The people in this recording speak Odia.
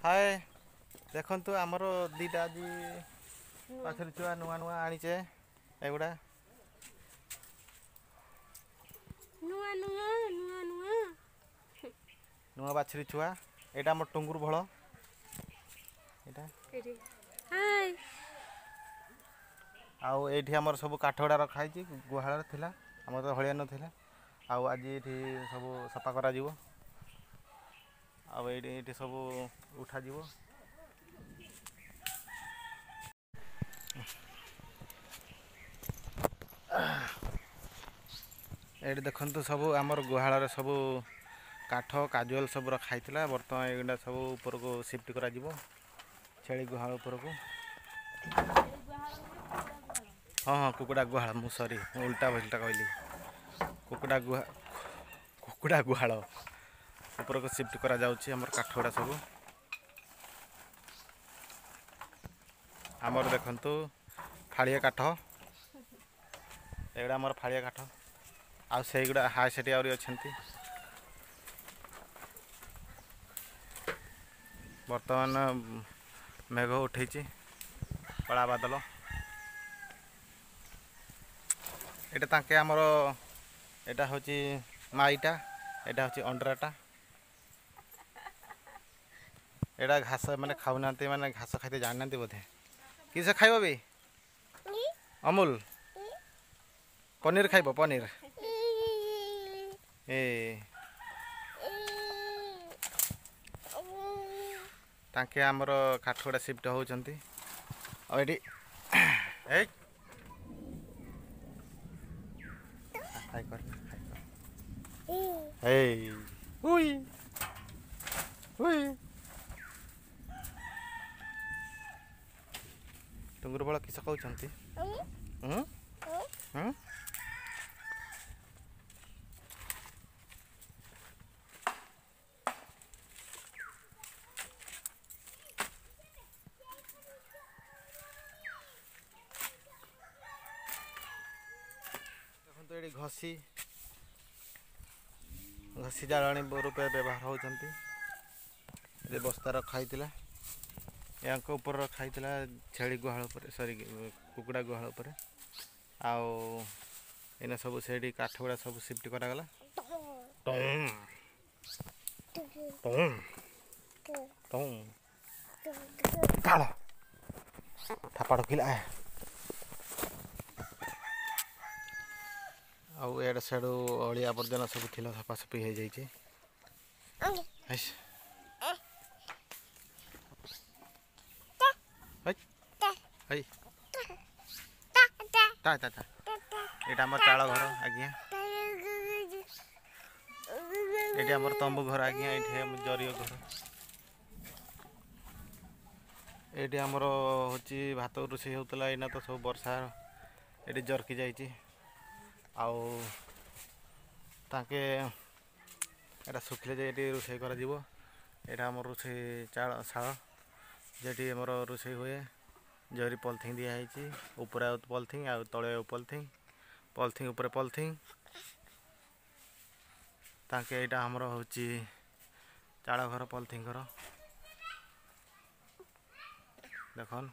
ହାଏ, ଦେଖନ୍ତୁ ଆମର ଦୁଇଟା ଆଜି ବାଛୁରୀ ଛୁଆ ନୂଆ ନୂଆ ଆଣିଛେ। ଏଗୁଡ଼ା ନୂଆ ନୂଆ ନୂଆ ନୂଆ ନୂଆ ବାଛୁରୀ ଛୁଆ। ଏଇଟା ଆମର ଟୁଙ୍ଗୁର ଭଳ ଏଇଟା। ଆଉ ଏଇଠି ଆମର ସବୁ କାଠ ଗୁଡ଼ା ରଖା ହେଇଛି, ଗୁହାଳରେ ଥିଲା ଆମର ତ ହଳିଆ ନଥିଲା। ଆଉ ଆଜି ଏଇଠି ସବୁ ସଫା କରାଯିବ, ଆଉ ଏଇଠି ସବୁ ଉଠାଯିବ। ଏଇଠି ଦେଖନ୍ତୁ ସବୁ ଆମର ଗୁହାଳରେ ସବୁ କାଠ କାଜୁଆଲ ସବୁ ରଖା ହେଇଥିଲା। ବର୍ତ୍ତମାନ ଏଗୁଡ଼ା ସବୁ ଉପରକୁ ସିଫ୍ଟ କରାଯିବ, ଛେଳି ଗୁହାଳ ଉପରକୁ। ହଁ ହଁ, କୁକୁଡ଼ା ଗୁହାଳ। ମୁଁ ସରି, ମୁଁ ଉଲ୍ଟା ଭୁଲ୍ଟା କହିଲି। କୁକୁଡ଼ା ଗୁହା କୁକୁଡ଼ା ଗୁହାଳ ଉପରକୁ ସିଫ୍ଟ କରାଯାଉଛି ଆମର କାଠ ଗୁଡ଼ା ସବୁ। ଆମର ଦେଖନ୍ତୁ ଫାଳିଆ କାଠ, ଏଗୁଡ଼ା ଆମର ଫାଳିଆ କାଠ। ଆଉ ସେଇଗୁଡ଼ା ହାଇ ସେଠି ଆହୁରି ଅଛନ୍ତି। ବର୍ତ୍ତମାନ ମେଘ ଉଠେଇଛି, କଳା ବାଦଲ। ଏଇଟା ତାଙ୍କେ ଆମର, ଏଇଟା ହେଉଛି ମାଇଟା, ଏଇଟା ହେଉଛି ଅଣ୍ଡରାଟା। ଏଇଟା ଘାସ ମାନେ ଖାଉନାହାନ୍ତି, ମାନେ ଘାସ ଖାଇତେ ଜାଣିନାହାନ୍ତି ବୋଧେ। କିସ ଖାଇବ ବି? ଅମୁଲ ପନିର ଖାଇବ, ପନିର। ଏ ତାଙ୍କେ ଆମର କାଠ ଗୁଡ଼ା ସିଫ୍ଟ ହେଉଛନ୍ତି। ଆଉ ଏଠି ଏଇ ହାଇ କର, ହାଇ କର। ଏଇ ଉଇ ଉଇ, ଟୁଙ୍ଗୁର ବଳ କିସ କହୁଛନ୍ତି? ଦେଖନ୍ତୁ ଏଠି ଘଷି ଘଷି ଜାଳେଣୀ ରୂପେ ବ୍ୟବହାର ହେଉଛନ୍ତି। ଏଠି ବସ୍ତା ରଖା ହେଇଥିଲା, ୟାଙ୍କ ଉପରେ ରଖା ହେଇଥିଲା, ଛେଳି ଗୁହାଳ ଉପରେ, ସରି, କୁକୁଡ଼ା ଗୁହାଳ ଉପରେ। ଆଉ ଏଇନା ସବୁ ସେଇଠି କାଠ ଗୁଡ଼ା ସବୁ ସିଫ୍ଟ କରାଗଲା। କାଳ ଥାପା ଢୋକିଲା। ଆଉ ଏଆଡ଼େ ସିଆଡ଼ୁ ଅଳିଆ ଆବର୍ଜନା ସବୁ ଥିଲା, ସଫାସଫି ହେଇଯାଇଛି। ତା ତା ତା, ଏଇଟା ଆମର ଚାଳ ଘର ଆଜ୍ଞା। ଏଇଠି ଆମର ତମ୍ବୁ ଘର ଆଜ୍ଞା। ଏଇଠି ଆମ ଜରିଅ ଘର। ଏଇଠି ଆମର ହେଉଛି ଭାତ ରୋଷେଇ ହେଉଥିଲା। ଏଇନା ତ ସବୁ ବର୍ଷା ଏଠି ଜରକି ଯାଇଛି। ଆଉ ତାଙ୍କେ ଏଇଟା ଶୁଖିଲେ ଯାଇ ଏଠି ରୋଷେଇ କରାଯିବ। ଏଇଟା ଆମର ରୋଷେଇ ଚାଳ ଶାଳ, ଯେଠି ଆମର ରୋଷେଇ ହୁଏ। ଜରି ପଲିଥିନ୍ ଦିଆହେଇଛି, ଉପରେ ଆଉ ପଲିଥିନ୍, ଆଉ ତଳେ ଆଉ ପଲିଥିନ୍, ପଲିଥିନ୍ ଉପରେ ପଲିଥିନ୍। ତାଙ୍କେ ଏଇଟା ଆମର ହେଉଛି ଚାଳ ଘର, ପଲିଥିନ୍ ଘର। ଦେଖନ୍।